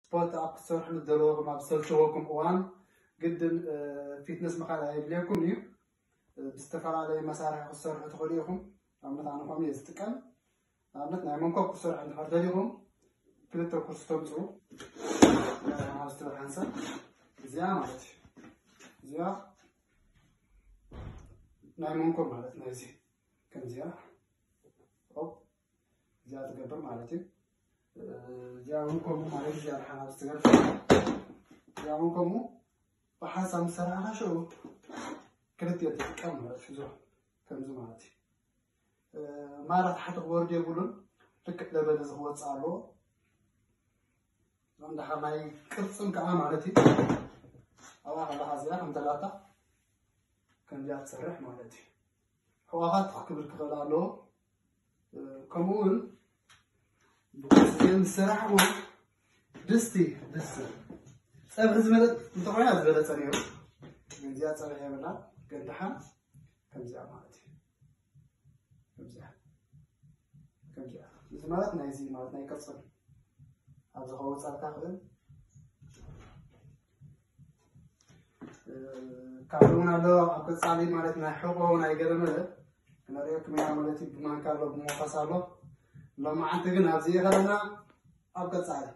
ስፖርት ኣብ ክትሰርሑ ምስ ዘለኹም ኣብ ዝሰልቸወኩም እዋን ግድን ፊትነስ ምኻድ ኣየድልየኩም እዩ። ብዝተፈላለየ መሳርሒ ክትሰርሑ ትኽእሉ ኢኹም። ኣብነት ኣነ ከምኡ እየ ዝጥቀም። ኣብነት ናይ መንኮብ ክትሰርሑ እንድሕር ደሊኹም ክልተ ኩርሲ ተምፅኡ። ኣብ ዝትብል ሓንሳብ እዚኣ ማለት እዩ። እዚኣ ናይ መንኮብ ማለት ናይ እዚ ከምዚኣ ኦፕ እዚኣ ትገብር ማለት እዩ። እዚኣ እውን ከምኡ ማለት እዚኣ ድሓን ኣብ ዝትገብር እዚኣ እውን ከምኡ ብሓንሳብ ምስ ሰራሕኻ ሽዑ ክልቲኦ ትጥቀም ማለት እዩ። ከምዚ ማለት እዩ። ማራ ታሕቲ ክወርድ የብሉን። ልክዕ ለበል እዚ ክወፅእ ኣለዎ። እዞም ደሓር ናይ ቅርፅን ከዓ ማለት እዩ። ኣብኣ ከለካ እዚኣ ከም ተላታ ከምዚኣ ትሰርሕ ማለት እዩ። ሕዋኻት ክብል ክኽእል ኣለዎ። ከምኡ እውን ብቁርሲ ዝሰራሕዎ ድስቲ ድስቲ ፀብሒ ዝበለፅ እንተኾይና ዝበለፀ ነይሩ። ግን እዚኣ ፀብሒ የብላ። ግን ደሓን ከምዚኣ ማለት እዩ። ከምዚኣ ከምዚኣ እዚ ማለት ናይዚ ማለት ናይ ቅርፅን ኣብዚ ከወፃልካ ክእል ካልእ እውን ኣሎ። ኣብ ቀፃሊ ማለት ናይ ሕቆ ናይ ገለመለ ክነሪኦኩም ኢና ማለት እዩ። ብማንካ ኣሎ ብሞኸስ ኣሎ። ሎማዓንቲ ግን ኣብዚ ይኸለና ኣብ ቀፃሊ